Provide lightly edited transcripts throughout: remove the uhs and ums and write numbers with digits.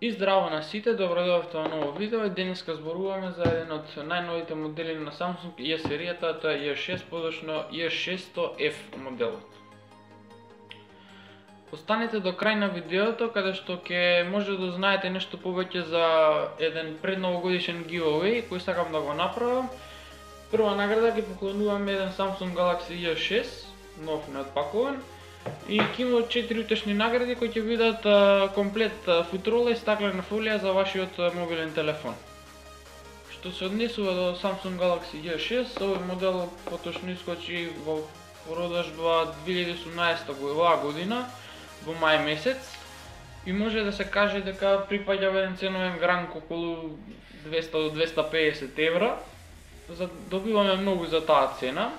И здраво на сите, добродојавте во ново видео и денеска зборуваме за еден од најновите модели на Samsung E серијата, тоа е E6, подочно E600F моделот. Останете до крај на видеото, каде што ќе може да знаете нешто повеќе за еден предновогодишен giveaway кој сакам да го направам. Прва награда ќе поклонуваме еден Samsung Galaxy E6, нов неотпакуван. И ќе има 4 утешни награди кои ќе бидат комплет футрола и стаклена фолија за вашиот мобилен телефон. Што се однесува до Samsung Galaxy E6, овој модел поточно искочи во продажба 2018 година во мај месец и може да се каже дека припаѓа во еден ценовен гранг околу 200 до 250 евра. Добиваме многу за таа цена.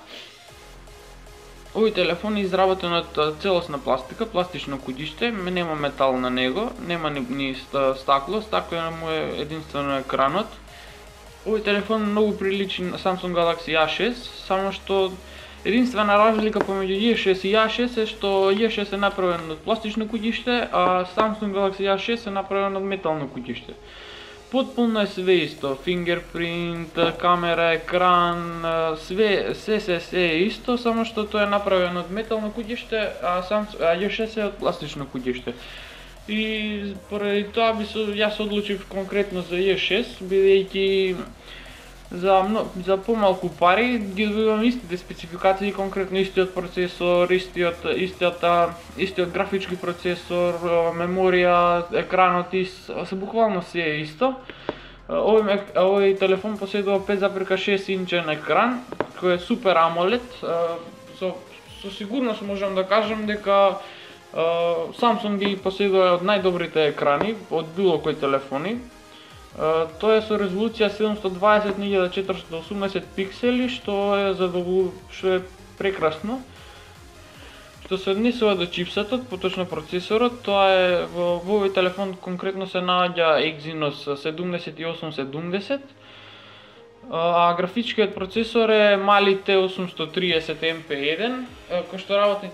Овој телефон е изработен од целосна пластика, пластично куќиште, нема метал на него, нема ни стакло, стаклено му е единствено екранот. Овој телефон многу приличи на Samsung Galaxy A6, само што единствена разлика помеѓу E6 и A6 е што E6 е направен од пластично куќиште, а Samsung Galaxy A6 е направен од метално куќиште. Потполно е све исто, fingerprint, камера, екран, се е исто, само што тоа е направено од метално куќиште, а E6 е од пластично куќиште. И поради тоа јас одлучив конкретно за E6, бидејќи за помалку пари ги добивам истите спецификации, конкретно истиот процесор, истиот графички процесор, меморија, екранот буквално се е исто. Овој телефон поседува 5,6 инчен екран, кој е супер AMOLED. Со сигурност можам да кажам дека Samsung ги поседува од најдобрите екрани од било кој телефони. Тоа е со резолуција 720x480 пиксели, што е прекрасно. Што се однесува до чипсетот, поточно процесорот, тоа е во овој телефон конкретно се наоѓа Exynos 7870, а графичкиот процесор е Mali T830 MP1, кој што работи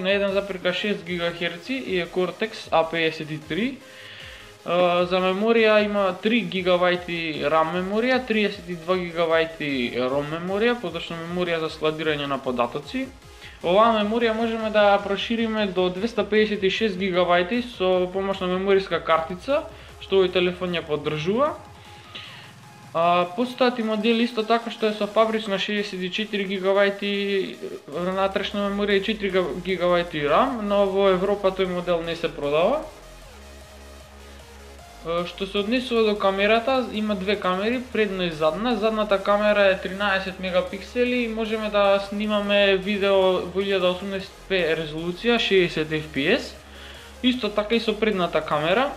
на 1,6 GHz и е Cortex A53. За меморија има 3 GB RAM меморија, 32 GB ROM меморија, поточно меморија за складирање на податоци. Оваа меморија можеме да ја прошириме до 256 GB со помош на мемориска картица, што овој телефон ја поддржува. Постојат и модели исто така што е со фабрична 64 GB внатрешна меморија и 4 GB RAM, но во Европа тој модел не се продава. Што се однесува до камерата, има две камери, предна и задна. Задната камера е 13 мегапиксели и можеме да снимаме видео во 1080p резолуција, 60 fps. Исто така и со предната камера.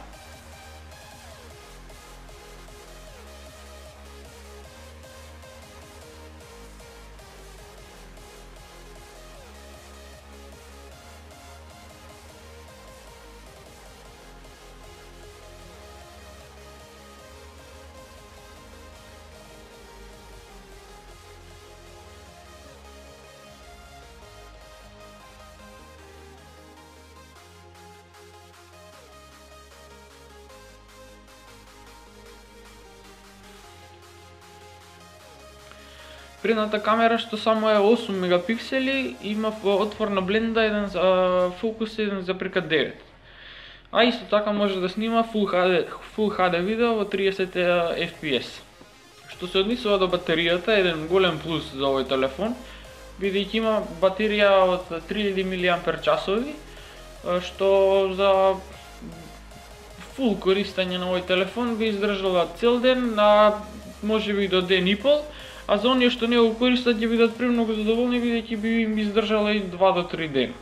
Предната камера што само е 8 мегапиксели, има отвор на бленда, еден фокус 1,9. А исто така може да снима Full HD видео во 30 fps. Што се однесува до батеријата, еден голем плюс за овој телефон, бидејќи има батерија од 3000 mAh, што за фул користење на овој телефон би издржала цел ден, можеби и до ден и пол. А за оние што не го користат ќе бидат премногу задоволни, бидејќи би им издржала и 2 до 3 дена.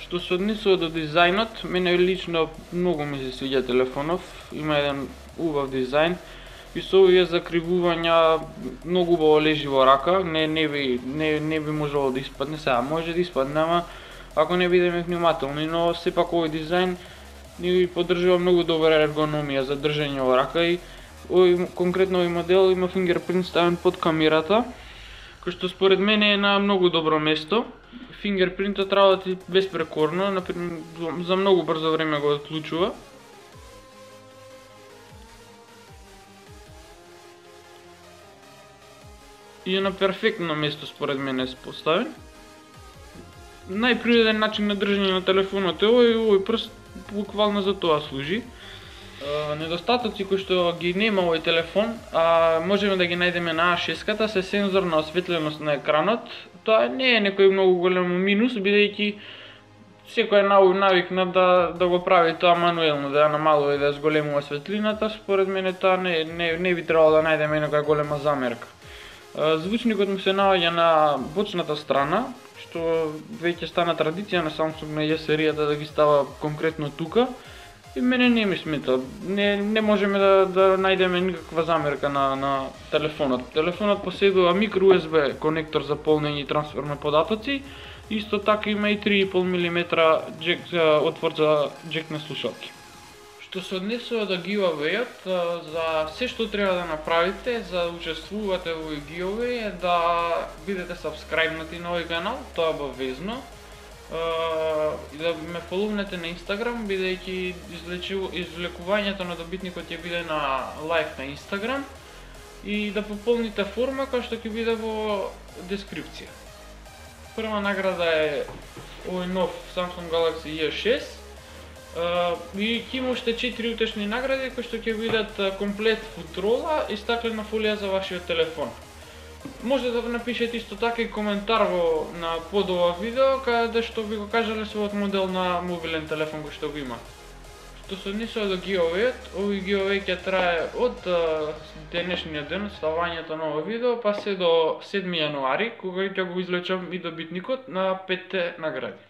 Што се однесува до дизајнот, мене лично многу ми се свиѓа телефонов, има еден убав дизајн и со овие закривувања многу убаво лежи во рака, не би можело да испадне, сега може да испадне, ама ако не бидеме внимателни, но сепак овој дизајн ни поддржува многу добра ергономија за држање во рака и конкретно овој модел има fingerprint ставен под камерата, кој што според мене е на многу добро место. фингерпринтот работи безпрекорно, например, за многу брзо време го отклучува. И е на перфектно место според мене е поставен. Најприроден начин на држање на телефонот е овој прст, буквално за тоа служи. Недостатоци кои што ги нема овој телефон, а можеме да ги најдеме на А6-ката, се сензорна осветленост на екранот. Тоа не е некој многу голем минус, бидејќи секој е навикнат да го прави тоа мануелно, да ја намалува и да ја зголемува светлината. Според мене тоа не би требало да најдеме некоја голема замерка. Звучникот му се наоѓа на бочната страна, што веќе стана традиција на Samsung на J серијата да ги става конкретно тука. И мене не ми смета, не можеме да најдеме никаква замерка на телефонот. Телефонот поседува micro USB конектор за полнење и трансфер на податоци. Исто така има и 3,5 мм отвор за джек на слушалки. Што се однесува до giveaway-от, за се што треба да направите за да учествувате во овој giveaway е да бидете сабскрајбнати на овој канал, тоа е обавезно. И да ме фоловнете на Instagram, бидејќи извлекувањето на добитникот ќе биде на лайв на Instagram, и да пополните форма која што ќе биде во дескрипција. Прва награда е овој нов Samsung Galaxy J6. И ќе има уште 4 утешни награди кои што ќе бидат комплет футрола и стаклена фолија за вашиот телефон. Може да напишете исто така и коментар на под ова видео, каде што ви го кажале својот модел на мобилен телефон кој што го има. Што се однесува до giveaway-от, овој giveaway ќе трае од денешниот ден, ставањето на ова видео, па се до 7 јануари, кога ќе го извлечам и добитникот на 5 награди.